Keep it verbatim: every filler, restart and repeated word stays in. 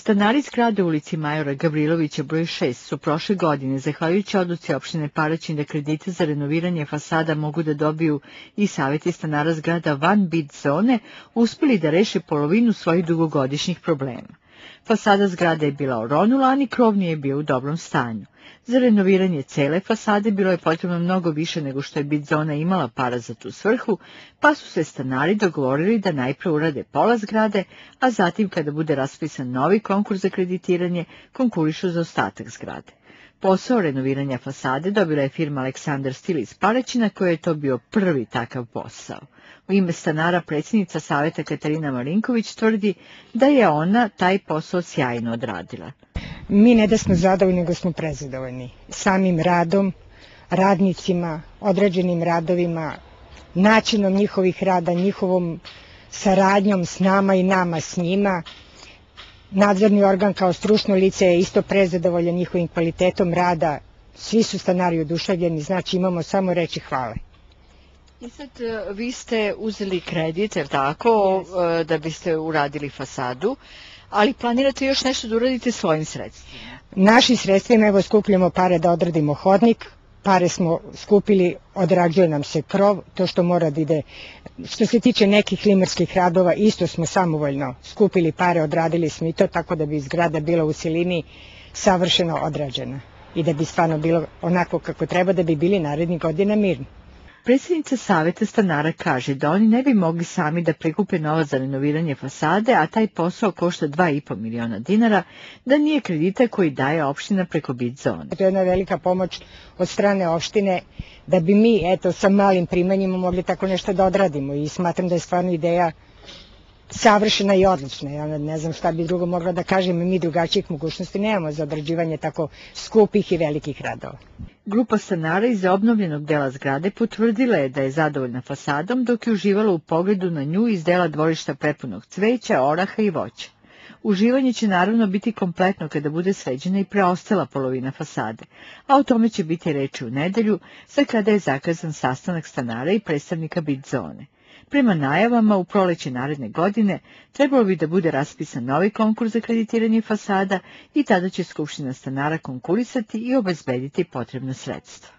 Stanari zgrade u ulici Majora Gavrilovića broj šest su prošle godine, zahvaljujući odluci opštine Paraćin da kredite za renoviranje fasada mogu da dobiju i savjeti stanara zgrada van bid zone, uspeli da reše polovinu svojih dugogodišnjih problema. Fasada zgrade je bila oronula, a ni krov nije bio u dobrom stanju. Za renoviranje cele fasade bilo je potrebno mnogo više nego što je bid zona imala para za tu svrhu, pa su se stanari dogovorili da najpre urade pola zgrade, a zatim kada bude raspisan novi konkurs za kreditiranje, konkurišu za ostatak zgrade. Posao renoviranja fasade dobila je firma Aleksandar Stil iz Paraćina, koji je to bio prvi takav posao. U ime stanara predsjednica savjeta Katarina Marinković tvrdi da je ona taj posao sjajno odradila. Mi ne da smo zadovoljni, nego smo prezadovoljni samim radom, radnicima, određenim radovima, načinom njihovih rada, njihovom saradnjom s nama i nama s njima. Nadzorni organ kao stručno lice je isto prezadovoljan njihovim kvalitetom rada. Svi su stanari oduševljeni, znači imamo samo reći hvale. I sad vi ste uzeli kredit, jer tako, yes. da biste uradili fasadu, ali planirate još nešto da uradite svojim sredstvima? Našim sredstvima, evo, skupljamo pare da odradimo hodnik, pare smo skupili, odrađuje nam se krov, to što mora da ide. Što se tiče nekih limarskih radova, isto smo samovoljno skupili pare, odradili smo i to, tako da bi zgrada bila u celini savršeno odrađena i da bi stvarno bilo onako kako treba, da bi bili narednih godina mirni. Predsjednica savjeta stanara kaže da oni ne bi mogli sami da prikupe novac za renoviranje fasade, a taj posao košta dva i po miliona dinara, da nije kredita koji daje opština preko bid zone. To je jedna velika pomoć od strane opštine da bi mi, eto, sa malim primanjima mogli tako nešto da odradimo i smatram da je stvarno ideja savršena i odlična. Ja ne znam šta bi drugo mogla da kažem, mi drugačijih mogućnosti nemamo za odrađivanje tako skupih i velikih radova. Grupa stanara iz obnovljenog dela zgrade potvrdila je da je zadovoljna fasadom, dok je uživala u pogledu na nju iz dela dvorišta prepunog cveća, oraha i voća. Uživanje će naravno biti kompletno kada bude sređena i preostala polovina fasade, a o tome će biti reči u nedelju, za kada je zakazan sastanak stanara i predstavnika bid zone. Prema najavama, u proleće naredne godine trebalo bi da bude raspisan novi konkurs za kreditiranje fasada i tada će Skupština stanara konkurisati i obezbediti potrebna sredstva.